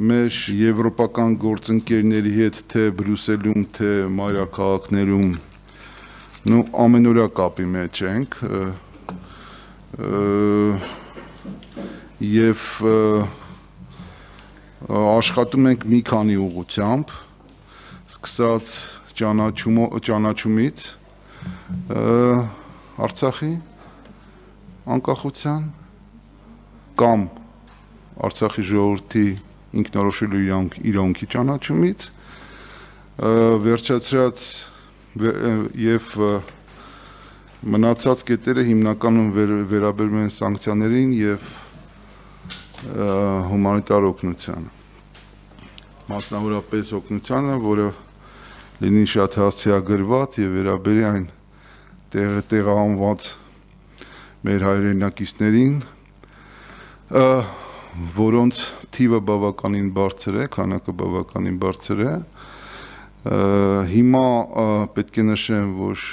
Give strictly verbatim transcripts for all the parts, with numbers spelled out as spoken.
Մեր եվրոպական գործընկերների հետ թե Բրյուսելում, թե մայրաքաղաքներում նու ամենօրյա կապի մեջ ենք եւ աշխատում ենք մի քանի ուղղությամբ, սկսած ճանաչումից Արցախի անկախության կամ Արցախի ժողովրդի ինքնորոշելու իրավունքի ճանաչումից, վերջացրած եւ մնացած կետերը հիմնականում վերաբերում են սանկցիաներին եւ հումանիտար օգնությանը, մասնավորապես օգնությանը, որը լինի շատ հասցեագրված եւ վերաբերի այն տեղահանված մեր հայրենակիցներին, որոնց թիվը բավականին բարձր է, քանակը բավականին բարձր է, հիմա պետք է նշեմ, որ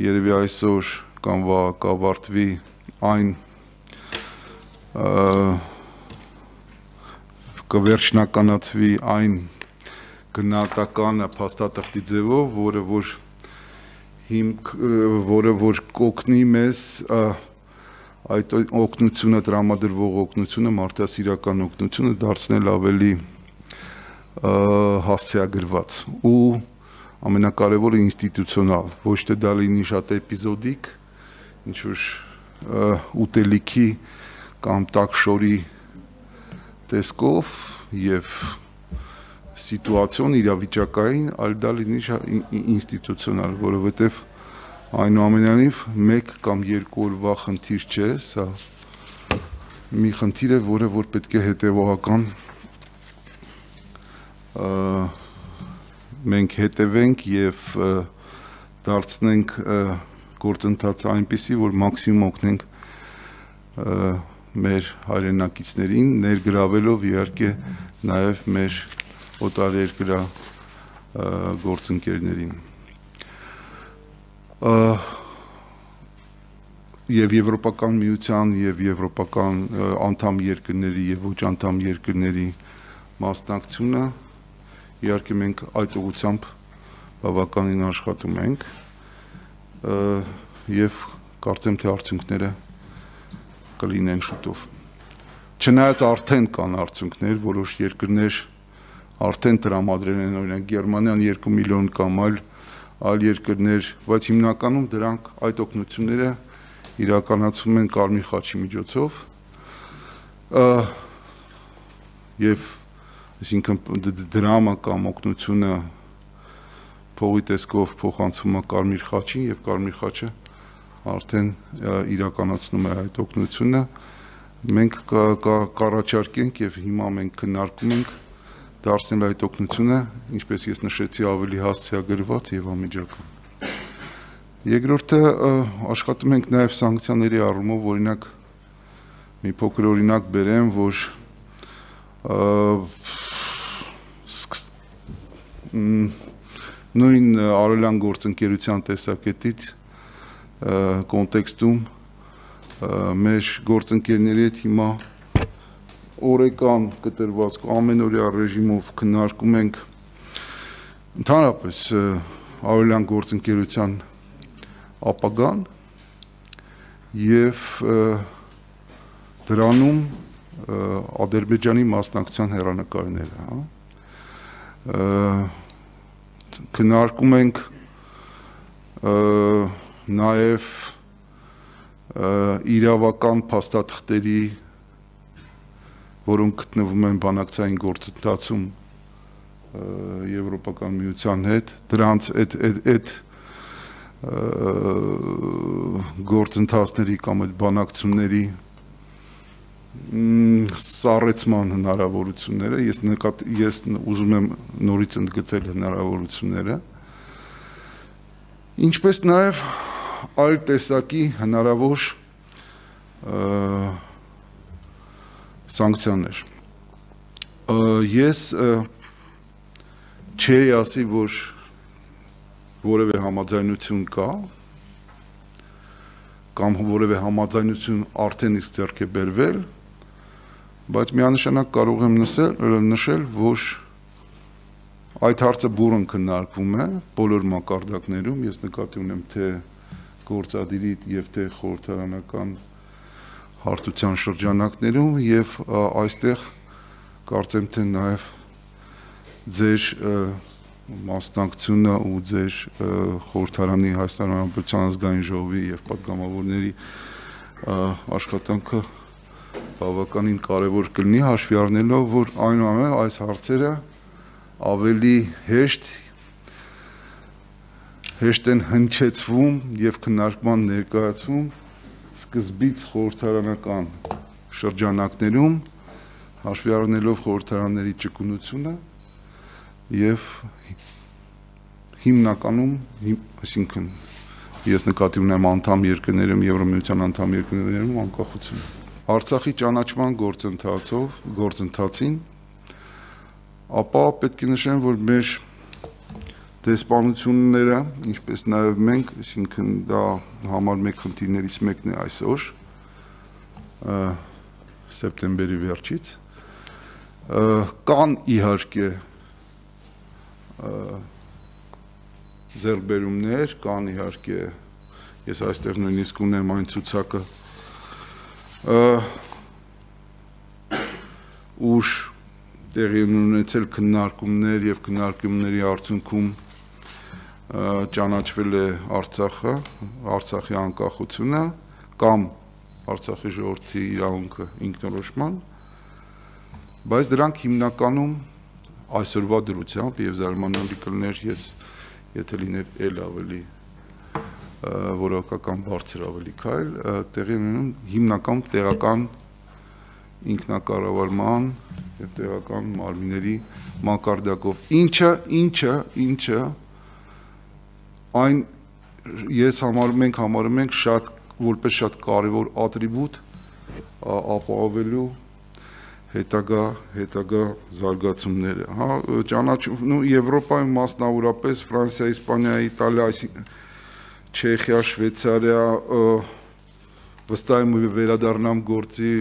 երևի այսօր կամ կավարտվի այն կվերջնականացվի այն գնահատականը փաստաթղթի ձևով, որը որ հիմք, որը որ կօգնի մեզ այդ օգնությունը տրամադրվող օգնությունը մարդասիրական օգնությունը դարձնել ավելի հասցեագրված ու ամենակարևորը ինստիտուցիոնալ, ոչ թե դա լինի շատ էպիզոդիկ, ինչ որ ուտելիքի կամ տաքշորի տեսքով եւ սիտուացիոն իրավիճակային, այլ դա լինի ինստիտուցիոնալ, որովհետեւ այնուամենայնիվ մեկ կամ երկու օրվա խնդիր չէ, սա մի խնդիր է, որը որ պետք է հետևողական մենք հետևենք եւ դարձնենք գործընթացը այնպիսի, որ մաքսիմում օգնենք մեր հայրենակիցներին, ներգրավելով իհարկե նաեւ մեր օտարերկրյա գործընկերներին։ Եվ Եվրոպական միության եւ եվրոպական անդամ երկրների եւ ոչ անդամ երկրների մասնակցությունը իհարկե մենք այդ ուղղությամբ բավականին աշխատում ենք եւ կարծեմ թե արդյունքները կլինեն շուտով։ Չնայած արդեն կան արդյունքներ, որոշ երկրներ արդեն տրամադրել են, օրինակ Գերմանիան երկու միլիոն կամ այլ այլ երկրներ, բայց հիմնականում դրանք այդ օգնությունները իրականացվում են Կարմիր խաչի միջոցով եւ այսինքն դրամը կամ օգնությունը փողի տեսքով փոխանցվում է Կարմիր խաչին եւ Կարմիր խաչը արդեն իրականացնում է այդ օգնությունը, մենք կառաջարկենք եւ հիմա մենք քննարկում ենք դարձնել այդ օգնությունը, ինչպես ես նշեցի, ավելի հասցեագրված եւ անմիջական։ Երկրորդը աշխատում ենք նաեւ սանկցիաների առումով, օրինակ մի փոքր օրինակ բերեմ, որ նույն արևելյան գործընկերության տեսակետից կոնտեքստում մեր գործընկերների հետ հիմա օրեկան կտրված ամենօրյա ռեժիմով քննարկում ենք ընդհանրապես արևելյան գործընկերության ապագան եւ դրանում Ադրբեջանի մասնակցության հեռանկարները, քննարկում ենք նաեւ իրավական փաստաթղթերի, որոնք գտնվում են բանակցային գործընթացում Եվրոպական միության հետ, դրանց այդ այդ գործընթացների կամ այդ բանակցությունների սառեցման հնարավորությունները, ես նկատ ես ուզում եմ նորից ընդգծել հնարավորությունները, ինչպես նաև այլ տեսակի հնարավոր սանկցիաներ։ Ես չի ասի, որ որևէ համաձայնություն կա, կամ որևէ համաձայնություն արդեն իսկ ձեռք է բերվել, բայց միանշանակ կարող եմ նշել, որ այդ հարցը բուռն քննարկվում է բոլոր մակարդակներում, ես նկատի ունեմ թե գործադիրի եւ թե խորհրդարանական հարթության շրջանակներում եւ այստեղ կարծեմ թե նաեւ ձեր մասնակցությունը ու ձեր խորհրդարանի Հայաստանի Հանրապետության ազգային ժողովի եւ պատգամավորների աշխատանքը բավականին կարևոր կլինի հաշվի առնելով, որ այնուամենայնիվ այս հարցերը ավելի հեշտ հեշտ են հնչեցվում եւ քննարկման ներկայացվում սկզբից խորհրդարանական շրջանակներում հաշվի առնելով խորհրդարանների ճկունությունը եւ հիմնականում, այսինքն ես նկատի ունեմ անդամ երկրներում, Եվրամիության անդամ երկրներում անկախություն։ Արցախի ճանաչման գործընթացով, գործընթացին, ապա պետք է նշեմ, որ մեր դեսպանությունները, ինչպես նաև մենք, այսինքն դա համար մեկ խնդիրներից մեկն է այսօր, սեպտեմբերի վերջից, կան իհարկե ձեռքբերումներ, կան իհարկե, ես այստեղ նույնիսկ ունեմ այն ցուցակը, ուր տեղի ունեցել քննարկումներ եւ քննարկումների արդյունքում ճանաչվել է Արցախը, Արցախի անկախությունը կամ Արցախի ժողովրդի իրավունքը ինքնորոշման, բայց դրանք հիմնականում այսօրվա դրությամբ եւ զարմանալի կլներ ես եթե լիներ ել ավելի որակական բարձր ավելի քայլ տեղի ունենում հիմնական տեղական ինքնակառավարման եւ տեղական մարմինների մակարդակով ինչը ինչը ինչը այն ես համարում ենք համարում ենք շատ որպես շատ կարևոր ատրիբուտ ապահովելու հետագա հետագա զարգացումները հա ճանաչում Եվրոպայում մասնավորապես Ֆրանսիա, Իսպանիա, Իտալիա, Չեխիա, Շվեյցարիա վստահ եմ վերադառնամ գործի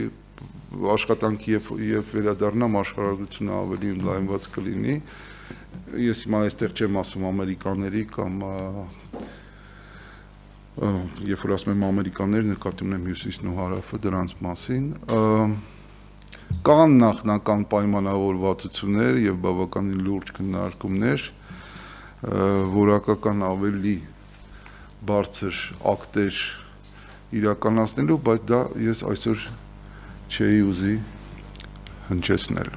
աշխատանքի եւ եւ վերադառնամ աշխարհագրությունը ավելի ընդլայնված կլինի ես հիմա այստեղ չեմ ասում ամերիկաների կամ երբ որ ասում եմ ամերիկաներ նկատի ունեմ հյուսիսն ու հարավը դրանց մասին կան նախնական պայմանավորվածություններ եւ բավականին լուրջ քննարկումներ որակական ավելի բարձր ակտեր իրականացնելու բայց դա ես այսօր չէի ուզի հնչեցնել